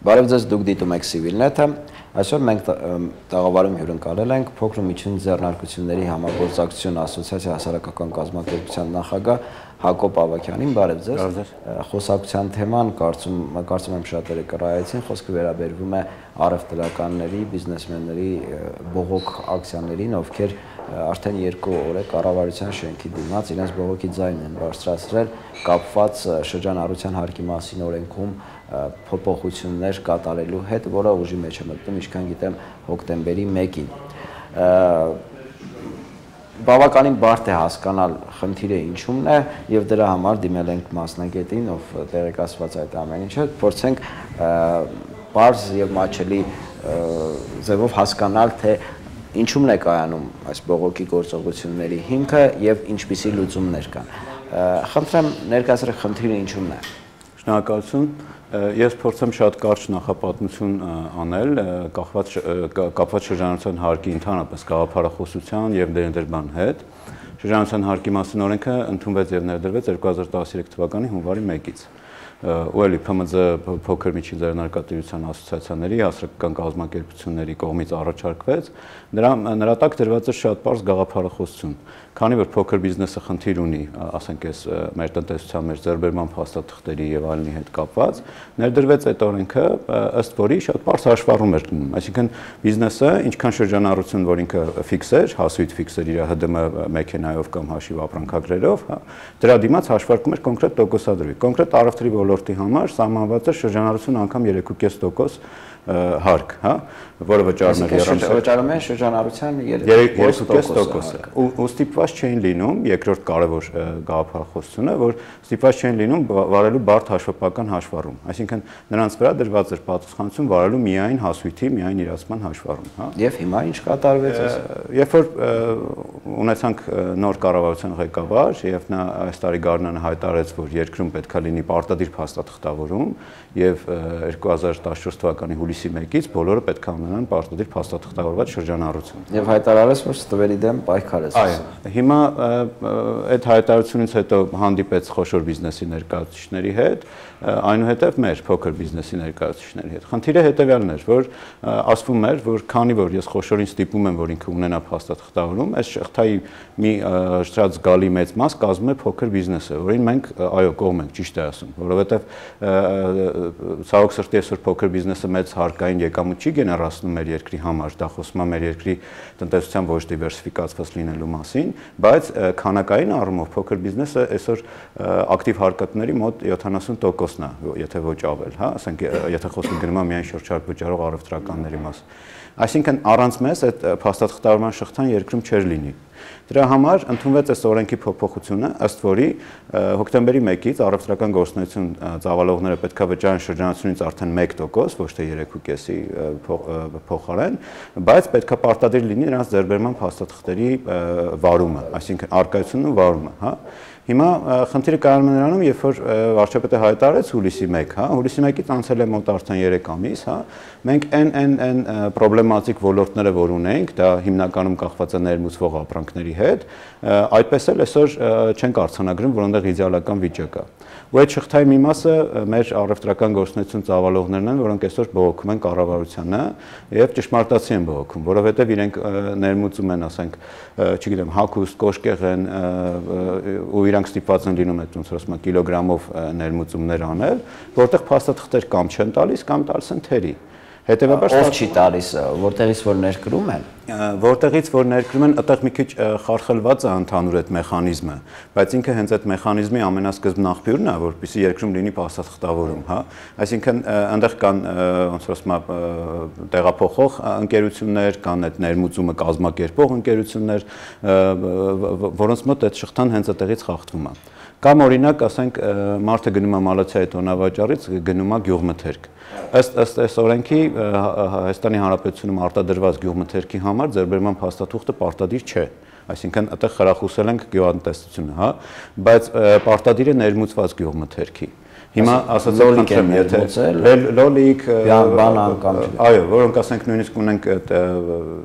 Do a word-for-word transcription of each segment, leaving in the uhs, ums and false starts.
Բարև ձեզ, դուք դիտում եք Civilnet-ը, այսօր մենք տաղավարում հյուրընկալել ենք փոքր ու միջին ձեռնարկությունների համագործակցություն ասոցիացիա հասարակական կազմակերպության նախագահ Հակոբ Ավագյանին, բարև ձեզ։ Խոսակցության թեման կարծում կարծում եմ շատերը կռահեցին, խոսքը վերաբերվում է առևտրականների, բիզնեսմենների բողոք ակցիաներին, ովքեր արդեն երկու օր է կառավարության շենքի դիմաց իրենց բողոքի ձայնն են բարձրացրել կապված շրջանառության հարկի մասին օրենքում փոփոխություններ կատարելու հետ, որը ուժի մեջ է մտնում, ինչքան գիտեմ, հոկտեմբերի մեկին։ Բավականին բարդ է հասկանալ խնդիրը ինչումն է եւ դրա համար դիմել ենք մասնագետին, ով տեղեկացված այդ ամեն ինչը, փորձենք բարձ եւ մաչելի ձևով հասկանալ, թե ինչումն է կայանում այս բողոքի գործողությունների հիմքը եւ ինչպիսի լուծումներ կան։ Խնդրեմ ներկայացրեք խնդիրը ինչումն է։ Շնորհակալություն։ Ես փորձեմ շատ կարճ նախապատմություն անել կապված շրջանառության հարկի ընդհանրապես գաղափարախոսության եւ ներդրման հետ։ Շրջանառության հարկի մասին օրենքը ընդունվեց եւ ներդրվեց երկու հազար տասներեք թվականի հունվարի մեկից։ Ու էլի Փ M Զ փոքր միջին ձեռնարկատիրության ասոցիացիաների հասարակական կազմակերպությունների կողմից առաջարկվեց, նրա նրա տակ դրված է շատ པարզ գաղափարախոսություն, քանի որ փոքր բիզնեսը խնդիր ունի, ասենք այս մեր տնտեսության մեր ձեռբերման փաստաթղթերի եւ այլնի հետ կապված, ներդրվեց այդ օրենքը, ըստ որի շատ པարզ հաշվառում էր դնում, այսինքն բիզնեսը ինչքան շրջանառություն, որ ինքը ֆիքս էր, հասույթ ֆիքս էր իր Հ D M մեքենայով կամ հաշիվ ապրանքագրերով, հա, դրա դիմաց հաշվարկում էր կոնկրետ տոկոսադրույք, կոնկրետ առևտրի ոլորտի համար սահմանված է շրջանառություն անգամ երեք ու կես տոկոս հարկ, հա, որը վճարում է վճարում է շրջանառության երեք ու կես տոկոսը։ Ու ստիպված չէին լինում, երկրորդ կարևոր գաղափարախոսությունը, որ ստիպված չէին լինում վարելու բարդ հաշվապահական հաշվառում, այսինքն նրանց վրա դրված էր պատասխանատվություն վարելու միայն հասույթի, միայն իրացման հաշվառում, հա։ Եվ հիմա ինչ կատարվեց այս։ Երբ որ ունեցանք նոր կառավարության ղեկավար եւ նա այս տարի գարնանը հայտարարեց, որ երկրում պետք է լինի պարտադիր փաստաթղթավորում եւ երկու հազար տասնչորս թվականի հուլիսի մեկից բոլորը պետք է ունենան պարտադիր փաստաթղթավորված շրջանառություն։ Եվ հայտարարեց, որ ստվերի դեմ պայքար է սկսել։ Այո, հիմա այդ հայտարարությունից հետո հանդիպեց խոշոր բիզնեսի ներկայացուցիչների հետ, այնուհետև մեր փոքր բիզնեսի ներկայացուցիչների հետ։ Խնդիրը հետեւյալն էր, որ ասվում էր, որ քանի որ ես խոշորին ստիպում եմ, որ ինքը ունենա փաստաթղթավորում, այս շղթայի մի շատ զգալի մեծ մաս կազմում է փոքր բիզնեսը, որին մենք այո կողմ ենք, ճիշտ է ասում, որովհետև ցավոք սրտի այսօր փոքր բիզնեսը մեծ հարկային եկամուտ չի գեներացնում մեր երկրի համար, դա խոսում է մեր երկրի տնտեսության ոչ դիվերսիֆիկացված լինելու մասին, բայց քանակային առումով փոքր բիզնեսը այսօր ակտիվ հարկատների մոտ յոթանասուն տոկոսն է, եթե ոչ ավել, հա, ասենք եթե խոսքը գնում է միայն շրջարկ վճարող առևտրականների մասին։ Այսինքն առանց մեզ այդ փաստաթղթավորման շղթան երկրում չէր լինի։ Դրա համար ընդունվեց այս օրենքի փոփոխությունը, ըստ որի հոկտեմբերի մեկից առևտրական գործունեություն ծավալողները պետք է վճարեն շրջանառությունից արդեն մեկ տոկոս, ոչ թե երեք ու կեսի փոխարեն, բայց պետք է պարտադիր լինի նրանց ձեռբերման փաստաթղթերի վարումը, այսինքն առկայությունն ու վարումը, հա։ Հիմա խնդիրը կայանում է նրանում, երբ որ վարչապետը հայտարարեց հուլիսի մեկ, հա, հուլիսի մեկից անցել է մոտ արդեն երեք ամիս, հա, մենք այն այն այն պրոբլեմատիկ ոլորտները, որ ունենք, դա հիմնականում կախված է ներմուծվող ապրանքների հետ, այդպես էլ այսօր չենք արձանագրում, որ այնտեղ իդեալական վիճակ է։ Ու այդ շղթայի մի մասը մեր առևտրական գործունեություն ծավալողներն են, որոնք այսօր բողոքում են կառավարությանը եւ ճշմարտացի են բողոքում, որովհետեւ իրենք ներմուծում են, ասենք, չգիտեմ, հագուստ, կոշկեղեն ու իրանք ստիպված են լինում այդ ոնց որ ասում են կիլոգրամով ներմուծումներ անել, որտեղ փաստաթղթեր կամ չեն տալիս, կամ տալիս են թերի։ Հետևաբար ով չի տալիս, որտեղից որ ներկրում են, որտեղից որ ներկրում են, այդտեղ մի քիչ խարխլված է ընդհանուր այդ մեխանիզմը, բայց ինքը հենց այդ մեխանիզմի ամենասկզբն աղբյուրն է, որպեսզի երկրում լինի փաստաթղթավորում, հա, այսինքն այնտեղ կան ոնց որ ասում է տեղափոխող ընկերություններ, կան այդ ներմուծումը կազմակերպող ընկերություններ, որոնց մոտ այդ շղթան հենց այդտեղից խախտվում է։ Կամ օրինակ, ասենք, մարդը գնում է Մալացիայի տոնավաճառից, գնում է գյուղմթերք։ Ըստ ըստ այս օրենքի Հայաստանի Հանրապետությունում արտադրված գյուղմթերքի համար ձեռբերման փաստաթուղթը պարտադիր չէ։ Այսինքն այդտեղ խրախուսել ենք գյուղատնտեսությունը, հա, բայց պարտադիր է ներմուծված գյուղմթերքի։ Հիմա ասած լոլիկ եմ ներմուծել, լոլիկ, բանան կամ այո, որոնք ասենք նույնիսկ ունենք այդ,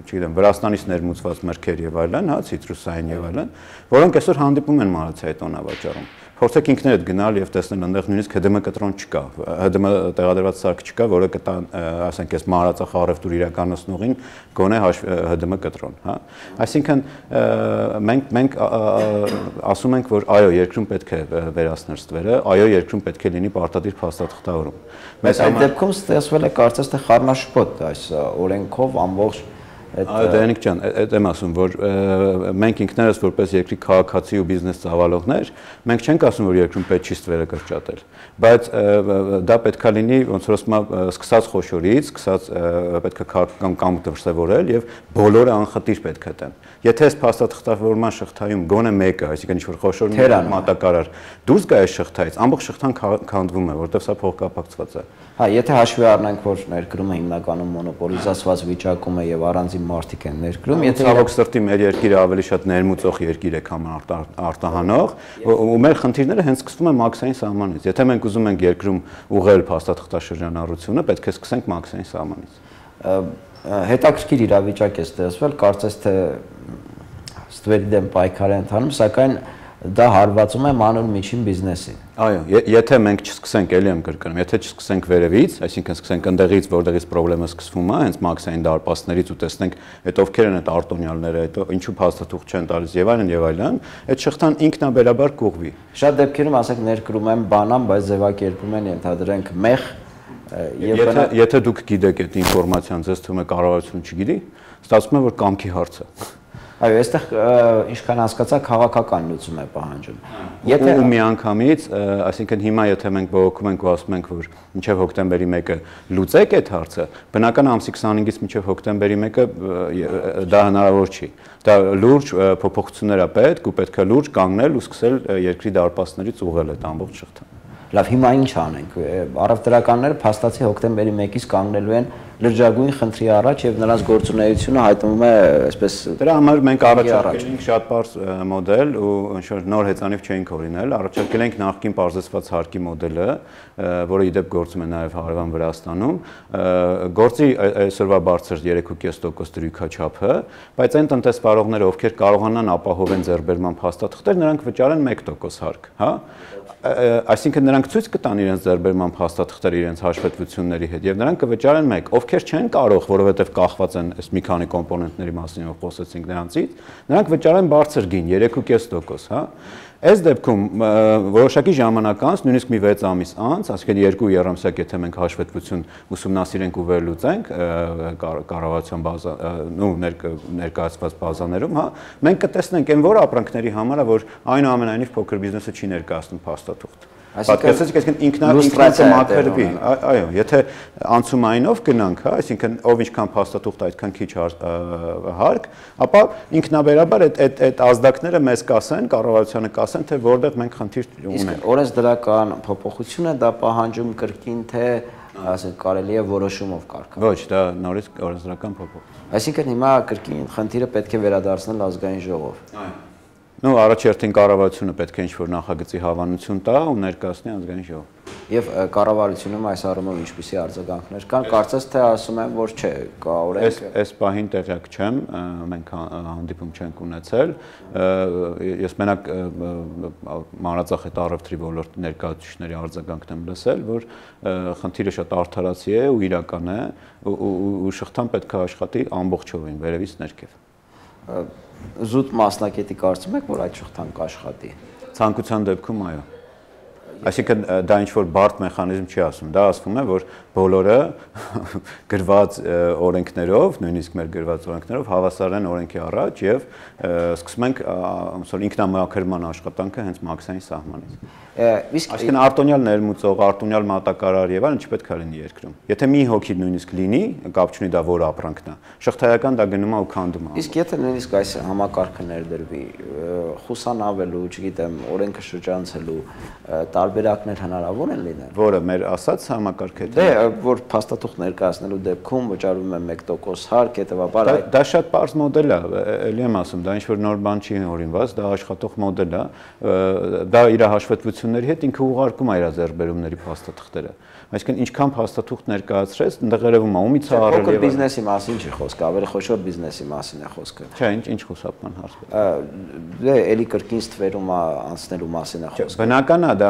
չգիտեմ, Վրաստանից ներմուծված մրգեր եւ այլն, հա, ցիտրուսային եւ այլն, որոնք այսօր հանդիպում են Մալացիայի տոնավաճառում։ փորձեք ինքներդ գնալ եւ տեսնել այնտեղ նույնիսկ Հ Դը Մ կտրոն չկա, Հ Դը Մ տեղադրված սարք չկա, որը կտա, ասենք, այս մահարացախ առևտուր իրականացնողին գոնե Հ Դը Մ կտրոն, հա։ Այսինքն մենք մենք ասում ենք, որ այո, երկրում պետք է վերացնել ստվերը, այո, երկրում պետք է լինի պարտադիր փաստաթղթավորում։ Մեծ այդ դեպքում ստեղծվել է կարծես թե խառնաշփոթ այս օրենքով ամբողջ Այո, Դանիկ ջան, այդ եմ ասում, որ մենք ինքներս որպես երկրի քաղաքացի ու բիզնես ծավալողներ, մենք չենք ասում, որ երկրում պետք չի ստվերը կրճատել, բայց դա պետքա լինի, ոնց որ ասում եմ, սկսած խոշորից, սկսած պետքա քաղաքական կամքը դրսևորել եւ բոլորը անխտիր պետք է տան։ Եթե այս փաստաթղթավորման շղթայում գոնե մեկը, այսինքն ինչ-որ խոշոր մատակարար դուրս գա այս շղթայից, ամբողջ շղթան քանդվում է, որտեղ սա փոխկապակցված է։ Հա, եթե հաշվի առնենք, որ ներկրումը հիմնականում մոնոպոլիզացված վիճակում է եւ առանձին մարդիկ են ներկրում, եթե ցավոք սրտի մեր երկիրը ավելի շատ ներմուծող երկիր է, քան արտահանող, ու մեր խնդիրները հենց սկսվում են մաքսային սահմանից։ Եթե մենք ուզում ենք երկրում ուղղել փաստաթղթաշրջանառությունը, պետք է սկսենք մաքսային սահմանից։ Հետաքրքիր իրավիճակ է ստեղծվել, կարծես թե ստվերի դեմ պայքար է ընթանում, սակայն դա հարվածում է մանուր միջին բիզնեսին։ Այո, եթե մենք չսկսենք, էլի եմ կրկնում, եթե չսկսենք վերևից, այսինքն սկսենք ընդեղից, որտեղից խնդրեմը սկսվում է, հենց մաքսային դարպասներից ու տեսնենք, այդ ովքեր են այդ արտոնյալները, այդ ինչու փաստաթուղթ չեն տալիս եւ այլն եւ այլն, այդ շղթան ինքնաբերաբար կուղվի։ Շատ դեպքերում, ասենք, ներկրում են բանան, բայց ձևակերպում են, ենթադրենք, մեղ եւ եթե դուք գիտեք այդ ինֆորմացիան, ձեզ թվում է կառավարությունը չգիտի, ստացվում է, որ կամքի հարց է։ Այո, այստեղ ինչքան հասկացա քաղաքական լուծում է պահանջում։ Եթե ու միանգամից, այսինքն հիմա եթե մենք բողոքում ենք ու ասում ենք, որ մինչև հոկտեմբերի մեկը լուծեք այդ հարցը, բնական ամսի քսանհինգից մինչև հոկտեմբերի մեկը դա հնարավոր չի։ Դա լուրջ փոփոխություններ է պետք ու պետք է լուրջ կանգնել ու սկսել երկրի դարպասներից ուղղել այդ ամբողջ շղթան։ Լավ, հիմա ինչ անենք։ Առևտրականները փաստացի հոկտեմբերի մեկից կանգնելու են լրջագույն խնդրի առաջ եւ նրանց գործունեությունը հայտնվում է այսպես դրա համար մենք առաջարկել ենք շատ բարձ մոդել ու ինչ-որ նոր հեծանիվ չէինք օրինել, առաջարկել ենք նախկին բարձրացված հարկի մոդելը, որը իդեպ գործում է նաեւ հարևան Վրաստանում, գործի այսօրվա բարձր երեք կόμμα պենս տոկոս դրույքաչափը, բայց այն տնտեսվարողները, ովքեր կարողանան ապահովեն ձեռբերման փաստաթղթեր, նրանք վճարեն մեկ տոկոս հարկ, հա։ Այսինքն նրանք ցույց կտան իրենց ձեռբերման փաստաթղթերը իրենց հաշվետվությունների հետ եւ նրանք կվճարեն մեկ, ովքեր չեն կարող, որովհետեւ կախված են այս մի քանի կոմպոնենտների մասին, որ խոսեցինք նրանցից, նրանք վճարեն բարձր գին երեք կόμμα պենս տոկոս, հա։ Այս դեպքում որոշակի ժամանակ անց, նույնիսկ մի վեց ամիս անց, այսինքն երկու երամսյակ, եթե մենք հաշվետվություն ուսումնասիրենք ու վերլուծենք կառավարության բազա, նո ներկայացված բազաներում, հա, մենք կտեսնենք այն որ ապրանքների համար է, որ այնուամենայնիվ փոքր բիզնեսը չի ներկայացնում փաստաթուղթ։ Պատկերացրեք, այսինքն ինքնա մաքրվի, այո, եթե անցումայինով գնանք, հա, այսինքն ով ինչքան փաստաթուղթ այդքան քիչ հարկ, ապա ինքնաբերաբար այդ այդ այդ ազդակները մեզ կասեն, կառավարությանը կասեն, թե որտեղ մենք խնդիր ունենք։ Իսկ օրենսդրական փոփոխությունը դա պահանջում կրկին թե ասենք կարելի է որոշումով կարգավորել։ Ոչ, դա նորից օրենսդրական փոփոխություն։ Այսինքն հիմա կրկին խնդիրը պետք է վերադարձնել ազգային ժողով։ Այո։ Ну, առաջերտին կառավարությունը պետք է ինչ-որ նախագծի հավանություն տա ու ներկայացնի ազգային ժողով։ Եվ կառավարությունում այս առումով ինչպիսի արձագանքներ կան, կարծես թե ասում են, որ չէ, կա օրենք։ Այս այս պահին տեղյակ չեմ, մենք հանդիպում չենք ունեցել։ Ես մենակ մանրածախ այդ առևտրի ոլորտի ներկայացուցիչների արձագանքն եմ լսել, որ խնդիրը շատ արդարացի է ու իրական է ու շղթան պետք է աշխատի ամբողջովին վերևից ներքև։ Զուտ մասնակետի կարծում եք, որ այդ շղթան կաշխատի։ Ցանկության դեպքում այո։ Այսինքն դա ինչ որ բարդ մեխանիզմ չի ասում, դա ասվում է, որ բոլորը գրված օրենքներով, նույնիսկ մեր գրված օրենքներով հավասար են օրենքի առաջ եւ սկսում ենք ոնց որ ինքնամաքրման աշխատանքը հենց մաքսային սահմանից։ Իսկ այսինքն արտոնյալ ներմուծող, արտոնյալ մատակարար եւ այլն չպետք է լինի երկրում։ Եթե մի հոգի նույնիսկ լինի, կապ չունի դա որ ապրանքն է, շղթայական դա գնում է ու քանդում է։ Իսկ եթե նույնիսկ այս համակարգը ներդրվի, խուսանավելու, չգիտեմ, օրենքը շրջանցելու տարբերակներ հնարավոր են լինել։ Որը մեր ասած համակարգը Դե որ փաստաթուղթ ներկայացնելու դեպքում վճարվում է մեկ տոկոս հարկ, հետեւաբար դա շատ པարզ մոդել է, էլի եմ ասում, դա ինչ որ նոր բան չի հորինված, դա աշխատող մոդել է, դա իր հաշվետվությունների հետ ինքը ուղարկում է իր ձեռբերումների փաստաթղթերը։ Այսինքն ինչքան փաստաթուղթ ներկայացրեց, այնտեղ երևում է ումից է առել փոքր բիզնեսի մասին չի խոսքը, ավելի խոշոր բիզնեսի մասին է խոսքը։ Չէ, ինչ ինչ խուսափման հարց։ Դե էլի կրկին ստվերում անցնելու մասին է խոսքը։ Բնական է դա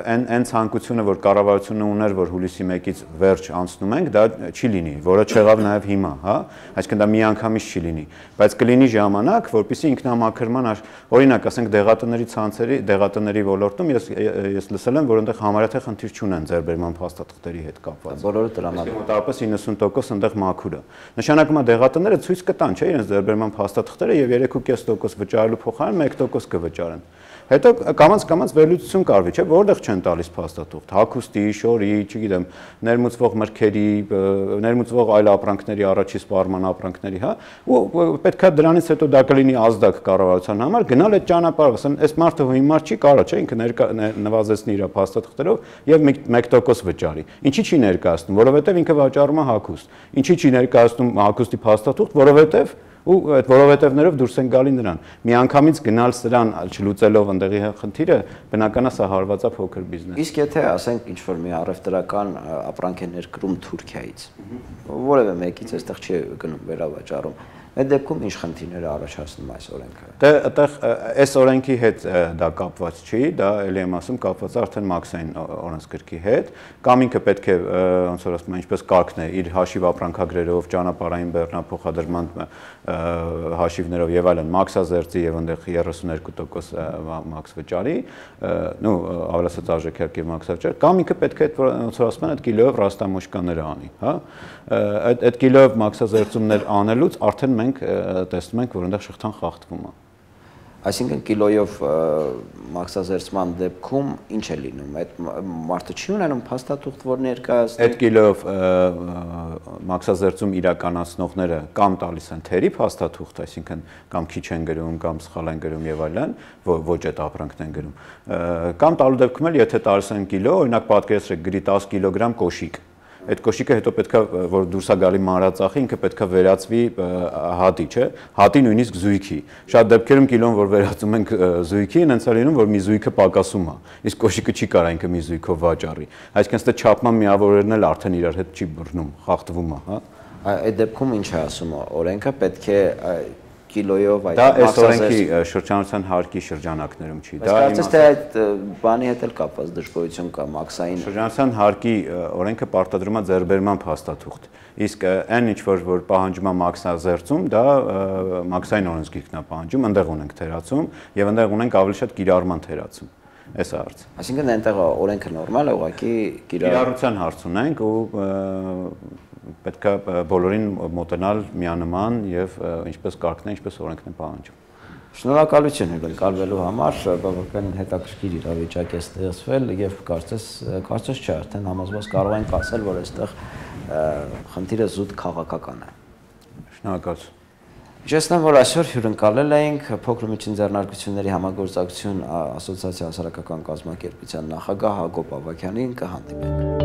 այն այն ցանկությունը, որ կառավարությունը ուներ, որ հուլիսի մեկից վերջ անցնում ենք, դա չի լինի, որը չեղավ նաև հիմա, հա, այսինքն դա միանգամից չի լինի, բայց կլինի ժամանակ, որպեսզի ինքնամաքրման, օրինակ, ասենք դեղատների ցանցերի, դեղատների ոլորտում ես ես լսել եմ, որ այնտեղ համարյա թե խնդիր չունեն ձեռբերման փաստաթղթերի հետ կապված։ Բոլորը տրամադրում։ Մոտավորապես իննսուն տոկոս այնտեղ մաքուր է։ Նշանակում է դեղատները ցույց կտան, չէ, իրենց ձեռբերման փաստաթղթերը եւ երեք ու կես տոկոս վճարելու փոխարեն մեկ տոկոս կվճարեն։ Հետո կամած կամած վերլուծություն կարվի, չէ, որտեղ չեն տալիս փաստաթուղթ, հագուստի, շորի, չգիտեմ, ներմուծվող մրգերի, ներմուծվող այլ ապրանքների, առաջի սպառման ապրանքների, հա, ու պետքա դրանից հետո դա կլինի ազդակ կառավարության համար, գնալ այդ ճանապարհով, ասեն, այս մարդը հիմար չի կարա, չէ, ինքը նվազեցնի իր փաստաթղթերով եւ մեկ տոկոս վճարի։ Ինչի չի ներկայացնում, որովհետեւ ինքը վաճառում է հագուստ։ Ինչի չի ներկայացնում հագուստի փաստաթուղթ, որովհետեւ ու այդ որովհետևներով դուրս են գալի նրան։ Միանգամից գնալ սրան չլուծելով ընդեղի խնդիրը, բնականա սա հարված է փոքր բիզնես։ Իսկ եթե ասենք ինչ որ մի առևտրական ապրանք է ներկրում Թուրքիայից, որևէ մեկից այստեղ չի գնում վերավաճառում, այդ դեպքում ինչ խնդիրներ է առաջացնում այս օրենքը։ Դե այդտեղ այս օրենքի հետ դա կապված չի, դա ելի եմ ասում կապված է արդեն մաքսային օրենսգրքի հետ, կամ ինքը պետք է ոնց որ ասում են, ինչպես կարգն է, իր հաշիվ ապրանքագրերով, ճանապարհային բեռնափոխադրման հաշիվներով եւ այլն մաքսազերծի եւ այնտեղ երեսուներկու տոկոս մաքս վճարի, նո ավելացած արժեքերկ եւ մաքսավճար, կամ ինքը պետք է ոնց որ ասում են, այդ կիլոյով ռաստամոշկաները անի, հա։ Այդ այդ կիլոյով մաքսազերծումներ անելուց արդեն մենք տեսնում ենք, որ այնտեղ շղթան խախտվում է։ Այսինքն կիլոյով մաքսազերծման դեպքում ինչ է լինում, այդ մարդը չի ունենում փաստաթուղթ, որ ներկայացնի։ Այդ կիլոյով մաքսազերծում իրականացնողները կամ տալիս են թերի փաստաթուղթ, այսինքն կամ քիչ են գրում, կամ սխալ են գրում եւ այլն, ոչ այդ ապրանքն են գրում, կամ տալու դեպքում էլ եթե տալիս են կիլո, օրինակ պատկերացրեք գրի դես կիլոգրամ կոշիկ, այդ կոշիկը հետո պետքա որ դուրս է գալի մանրածախի, ինքը պետքա վերածվի հատի, չէ, հատի նույնիսկ զույգի։ Շատ դեպքերում կիլոն որ վերածում ենք զույգի, հենց է լինում որ մի զույգը պակասում է, իսկ կոշիկը չի կարա ինքը մի զույգով վաճառի։ Այսինքն ստե չափման միավորներն էլ արդեն իրար հետ չի բռնում, խախտվում է, հա։ Այդ դեպքում ինչ է ասում օրենքը, պետք է կիլոյով այդ դա այս օրենքի շրջանառության հարկի շրջանակներում չի։ Դա կարծես թե այդ բանի հետ էլ կապված դժգոհություն կա մաքսային շրջանառության հարկի օրենքը պարտադրում է ձեռբերման փաստաթուղթ։ Իսկ այն ինչ որ որ պահանջում է մաքսազերծում, դա մաքսային օրենսգիրքն է պահանջում, այնտեղ ունենք թերացում եւ այնտեղ ունենք ավելի շատ կիրառման թերացում։ Այս է հարցը։ Այսինքն այնտեղ օրենքը նորմալ է, ուղղակի կիրառության հարց ունենք ու պետք է բոլորին մոտենալ միանման եւ ինչպես կարգն է, ինչպես օրենքն է պահանջում։ Շնորհակալություն հյուրընկալվելու համար, բավական հետաքրքիր իրավիճակ է ստեղծվել եւ կարծես կարծես չէ, արդեն համոզված կարող ենք ասել, որ այստեղ խնդիրը զուտ քաղաքական է։ Շնորհակալություն։ Հիշեցնեմ, որ այսօր հյուրընկալել էինք Փոքր ու միջին ձեռնարկությունների համագործակցություն ասոցիացիա հասարակական կազմակերպության նախագահ Հակոբ Ավագյանին, կհանդիպենք։